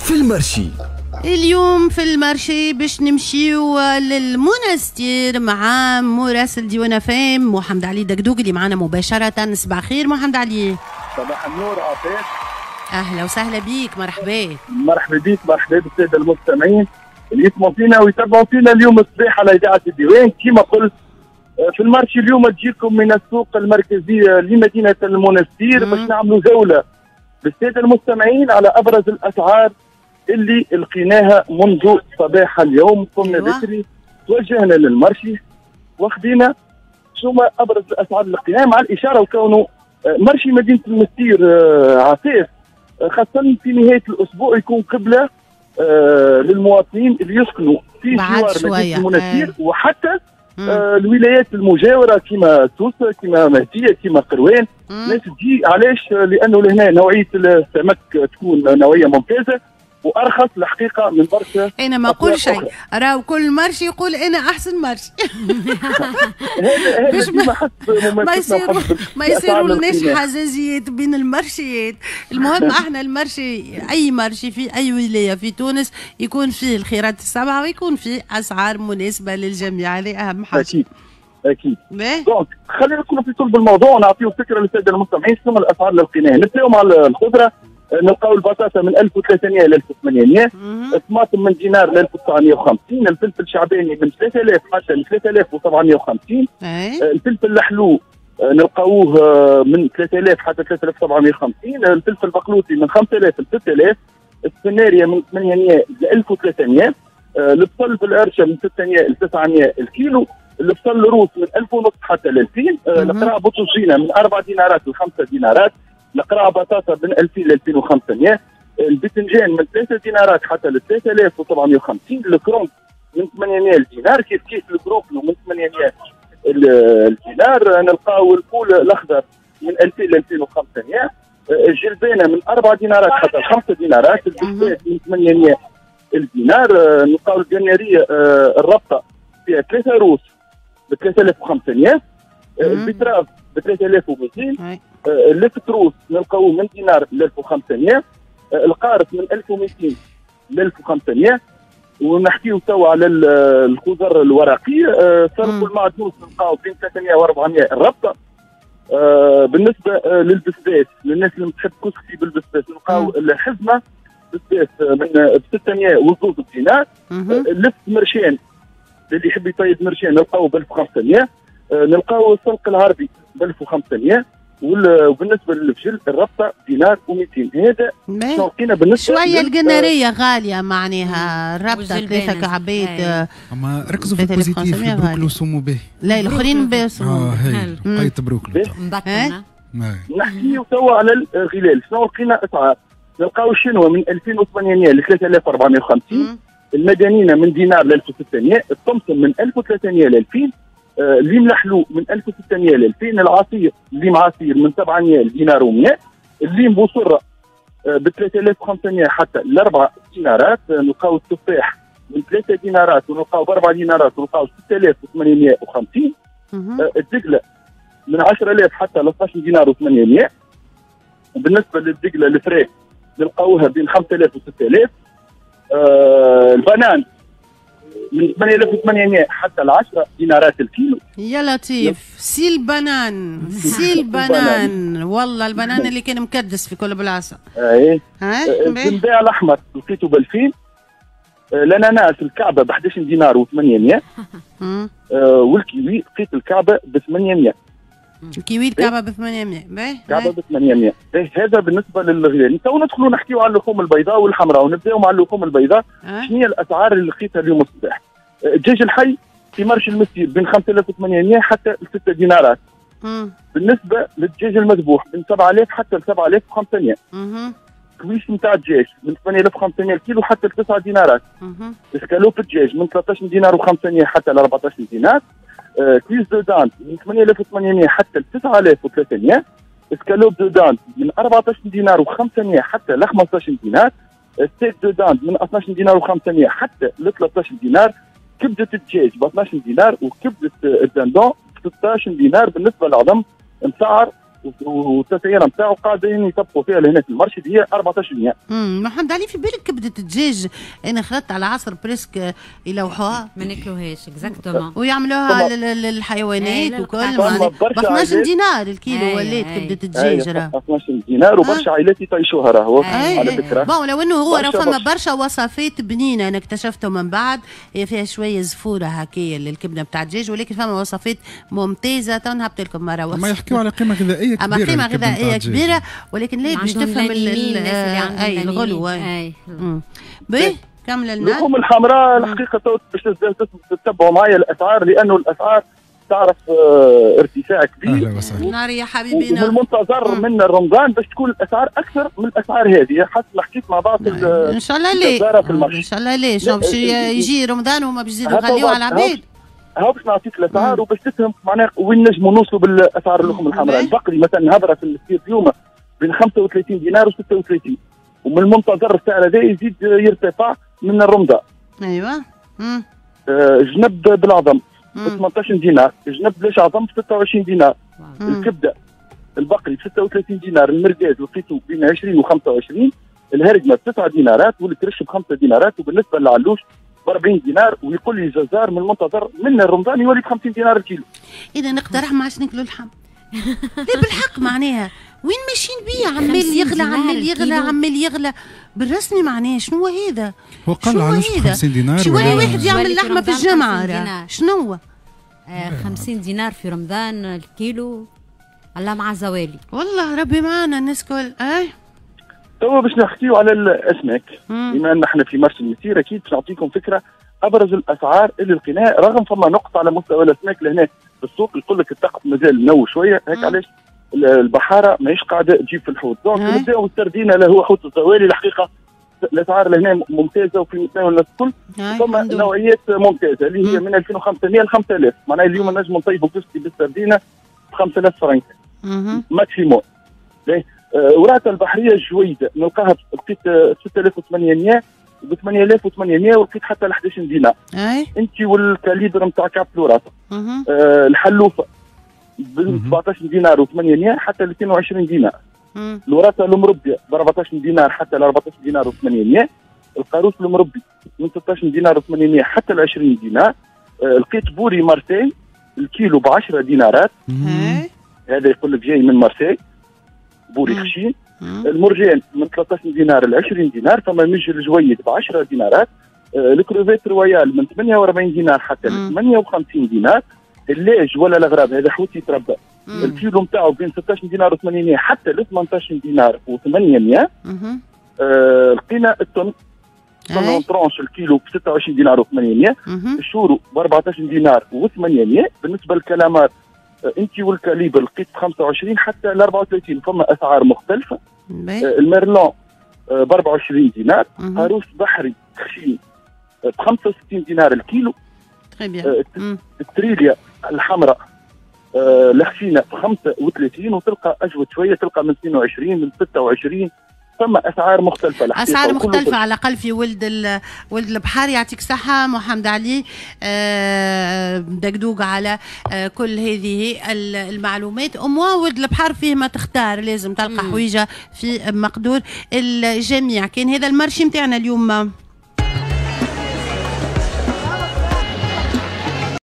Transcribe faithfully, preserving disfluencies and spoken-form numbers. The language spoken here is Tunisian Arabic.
في ال marché. اليوم في ال marché باش نمشيو للمونستير مع مراسل ديوان اف ام محمد علي دقدوق اللي معنا مباشرة. صباح الخير محمد علي. صباح النور عفاف. اهلا وسهلا بيك، مرحبا. مرحبا بيك، مرحبا بالساده المستمعين اللي يسمعوا فينا ويتابعوا فينا اليوم الصباح على اذاعة الديوان. كما قلت في ال marché اليوم تجيكم من السوق المركزي لمدينة المونستير باش نعملوا جولة بالساده المستمعين على ابرز الاسعار اللي لقيناها منذ صباح اليوم. قمنا بكري توجهنا لل marché واخدينا شو ما ابرز الاسعار اللي لقيناها، مع الاشارة وكونه marché مدينة المستير عفاف خاصة في نهاية الاسبوع يكون قبله للمواطنين اللي يسكنوا في جوار مدينة المونستير وحتى آه الولايات المجاورة كما سوسة كما مهديه كما قروان. الناس تجي علاش؟ لانه لهنا نوعية السمك تكون نوعية ممتازة وارخص الحقيقة من برشا. انا ما نقول شيء، راهو كل marché يقول انا احسن marché. هذا باش ما, ما يصيروا ما يصيروا لناش حزازيات بين المارشيات. المهم احنا ال marché، اي marché في اي ولاية في تونس يكون فيه الخيرات السبعة ويكون فيه اسعار مناسبة للجميع، هذه اهم حاجة. اكيد اكيد. donc خلينا نكونوا في صلب الموضوع ونعطيو فكرة للسادة المستمعين شنو الاسعار اللي لقيناها. نبداو مع الخضرة، نلقاو البطاطا من ألف وثلاثمية ل ألف وثمانمية، الطماطم من دينار ل ألف وتسعمية وخمسين، الفلفل الشعباني من ثلاثة آلاف حتى ل ثلاثة آلاف وسبعمية وخمسين، الفلفل الحلو نلقاوه من ثلاثة آلاف حتى ثلاثة آلاف وسبعمية وخمسين، الفلفل البقلوطي من خمسة آلاف ل ستة آلاف، السفناريا من ثمانمية ل ألف وثلاثمية، البصل بالقرشه من ستمية ل تسعمية الكيلو، البصل الروس من ألف ونص حتى ل ألفين، القرع بوتوجينا من أربع دينارات ل خمسة دينارات، القرعة بطاطا من ألفين ل ألفين وخمسمية، الباذنجان من ثلاثة دينارات حتى ل ثلاثة آلاف وسبعمية وخمسين، الكرنب من ثمانمية لدينار، كيف كيف البروكلو من ثمانمية الدينار، نلقاو الفول الاخضر من ألفين ل ألفين وخمسمية، الجلبانه من أربعة دينارات حتى خمسة دينارات، البسباس من ثمانمية الدينار، نلقاو الجناريه الربطه فيها ثلاثة روس ب ثلاثة آلاف وخمسمية، ال betterave ب ثلاثة آلاف ومئتين، اللفت روس نلقاوه من دينار ل ألف وخمسمية، القارص من ألف ومئتين ل ألف وخمسمية، ونحكيو توا على الخضر الورقية، صرف المعدنوس نلقاو بين ثلاثمية و أربعمية الربطه. بالنسبة للبسباس للناس اللي تحب كسكسي بالبسباس نلقاو الحزمة بسباس من ستمية وزوز دينار، اللفت مرشان اللي يحب يطيب مرشان نلقاوه ب ألف وخمسمية، نلقاو السلق العربي ب ألف وخمسمية، وبالنسبة للفجل الربطه دينار ومئتين. هذا شنو لقينا بالنسبة شوية القناريه غالية، معناها الربطه ثلاثة كعبات. اما ركزوا في ال positif، البروكلو سمو به. لا الاخرين بسمو. اه هاي قيت بروكلو. نحكيو توا على الغلال، شنو لقينا اسعار؟ نلقاو الشنوه من ألفين وثمانمية ل ثلاثة آلاف وأربعمية وخمسين، المدنينه من دينار ل ألف وستمية، الطمطم من ألف وثلاثمية ل ألفين، الليم الحلو من ألف وستمية ل ألفين، العصير الليم عصير من سبعمية لدينار ومية، الليم بوصره ب ثلاثة آلاف وخمسمية حتى ل أربعة دينارات، نلقاو التفاح من ثلاثة دينارات ونلقاو ب أربعة دينارات ونلقاو ستة آلاف وثمانمية وخمسين، الدقله من عشرة آلاف حتى ل اثناش دينار وثمانمية، وبالنسبة للدقله الفريك نلقاوها بين خمسة آلاف و ستة آلاف، البنان من ثمانية آلاف وثمانمية حتى ل عشرة دينارات الكيلو. يا لطيف، سي البنان، سي البنان، والله البنان اللي كان مكدس في كل بلاصة. اي الزنباع الاحمر لقيته ب ألفين، الاناناس الكعبة ب أحد عشر دينار وثمانمية، والكيوي لقيت الكعبة ب ثمانمية. الكيوي الكعبة ب ثمانمية، باهي الكعبة ب ثمانمية، هذا بالنسبة للغلال. تو ندخلوا نحكيو على اللحوم البيضاء والحمراء، ونبداو مع اللحوم البيضاء. شنو هي الاسعار اللي لقيتها اليوم الصباح؟ الدجاج الحي في marché المستير بين خمسة آلاف وثمانمية حتى ستة دينارات. مم. بالنسبة للدجاج المذبوح من سبعة آلاف حتى ل سبعة آلاف وخمسمية. cuisse نتاع الدجاج من ثمانية آلاف وخمسمية الكيلو حتى ل تسعة دينارات. اسكالوب الدجاج من ثلاثة عشر دينار وخمسمية حتى ل أربعة عشر دينار. cuisse de dinde من ثمانية آلاف وثمانمية حتى ل تسعة آلاف وثلاثمية. escalope de dinde من أربعة عشر دينار وخمسمية حتى ل خمسة عشر دينار. steak de dinde من اثناش دينار وخمسمية حتى ل ثلاثة عشر دينار. كبده الدجاج ب اثناش دينار وكبده ال dindon ب ستة عشر دينار. بالنسبة للعظم مسعر والتسعيره نتاعو قاعدين يطبقوا فيها لهنا في ال marché اللي هي أربعطاش بالمية. امم محمد علي في بالك كبده الدجاج انا خلطت على عصر presque يلوحوها ما ناكلوهاش exactement ويعملوها للحيوانات وكل ب اثناش دينار الكيلو ولات كبده الدجاج راه اثناش دينار وبرشا عائلات يطيشوها راهو على فكرة. bon لو انه هو راه فما برشا وصفات بنينه انا اكتشفتهم من بعد، هي فيها شوية زفوره هكايا للكبده نتاع الدجاج، ولكن فما وصفات ممتازة تو نهبط لكم مرة وصفه. ما يحكيوا على قيمة غذائية كبيرة، اما قيمة غذائية كبيرة ولكن لا باش تفهم اي الغلو. اي باهي كمل لنا. اللحوم الحمراء الحقيقة باش تتبعوا معايا الاسعار لانه الاسعار تعرف ارتفاع كبير. اهلا وسهلا نار يا حبيبي. ومن المنتظر من رمضان باش تكون الاسعار اكثر من الاسعار هذه، حسب ما حكيت مع بعض ان شاء الله ليه ان شاء الله ليه باش يجي رمضان وما باش يزيدوا يغليوا على العباد. هاو باش نعطيك الاسعار وباش تفهم معناها وين نجموا نوصلوا بالاسعار اللحوم الحمراء. البقري مثلا هبره في السير اليوم بين خمسة وثلاثين دينار و ستة وثلاثين، ومن المنتظر السعر هذا يزيد يرتفع من الرمضان. ايوه. امم آه جنب بالعظم ب ثمنطاش دينار، جنب بلاش عظم ب ستة وعشرين دينار. مم. الكبده البقري ب ستة وثلاثين دينار، المرقاز لقيته بين عشرين و خمسة وعشرين، الهرقمه ب تسعة دينارات، والكرش ب خمسة دينارات، وبالنسبة للعلوش ب أربعين دينار، ويقول لي الجزار من المنتظر من رمضان يولي ب خمسين دينار الكيلو. اذا نقترح ما عادش ناكلوا اللحم. لا بالحق معناها وين ماشيين بيه؟ عمال يغلى عمال يغلى عمال يغلى بالرسمي معناها شنو هذا؟ هو قال علاش خمسين دينار؟ شو يولي واحد يعمل لحمه في الجمعة شنو هو؟ آه خمسين دينار في رمضان الكيلو، الله مع زوالي والله ربي معنا الناس كل. اي توا باش نحكيو على الاسماك بما ان احنا في marché المسير اكيد باش نعطيكم فكرة ابرز الاسعار اللي لقيناها، رغم فما نقص على مستوى الاسماك لهنا في السوق، يقول لك الطقس مازال نو شوية هيك علاش البحارة ماهيش قاعدة تجيب في الحوت. donc نبداو السردينه اللي هو حوت الزوالي، الحقيقة الاسعار لهنا ممتازة وفي متناول الناس الكل، ثم نوعيات ممتازة اللي هي من ألفين وخمسمية ل خمسة آلاف، معناها اليوم نجم نطيبوا كسكسي بالسردينه ب خمسة آلاف فرنك maximum. وراثه البحرية الجويده نلقاها لقيت ستة آلاف وثمانمية ب ثمانية آلاف وثمانمية ولقيت حتى ل أحد عشر دينار. انت وال calibre نتاع كعب الوراثة. آه الحلوفه ب سبعطاش دينار وثمانمية حتى ل اثنين وعشرين دينار. الوراثة المربيه ب أربعطاش دينار حتى ل أربعطاش دينار وثمانمية. القاروص المربي من ستطاش دينار وثمانمية حتى ل عشرين دينار. آه لقيت بوري مارسي الكيلو ب عشرة دينارات. هذا يقول لك جاي من مارسي بوري خشين. المرجان من ثلاثطاش دينار ل عشرين دينار. فما مجل الجويد ب عشرة دينارات. آه ال crevette royale من ثمانية وأربعين دينار حتى ل ثمانية وخمسين دينار. اللاج ولا الغراب هذا حوت يتربى الكيلو نتاعو بين ستطاش دينار وثمانمية حتى ل ثمنطاش دينار وثمانمية. آه لقينا ال thon thon tranche الكيلو ب ستة وعشرين دينار وثمانمية. الشورو ب أربعطاش دينار وثمانمية. بالنسبة للكلامار آه انت وال calibre لقيت ب خمسة وعشرين حتى ل أربعة وثلاثين، فما اسعار مختلفة. آه ال merlan آه ب أربعة وعشرين دينار. قاروص بحري خشين آه ب خمسة وستين دينار الكيلو. آه التريليا الحمراء آه الخشينه ب خمسة وثلاثين، وتلقى اجود شوية تلقى من اثنين وعشرين من ستة وعشرين. ثم اسعار مختلفة، اسعار مختلفة على الاقل في ولد ولد البحر. يعطيك صحة محمد علي آه دقدوق على آه كل هذه المعلومات. أموا ولد البحر فيه ما تختار، لازم تلقى حويجه في مقدور الجميع. كان هذا ال marché نتاعنا اليوم.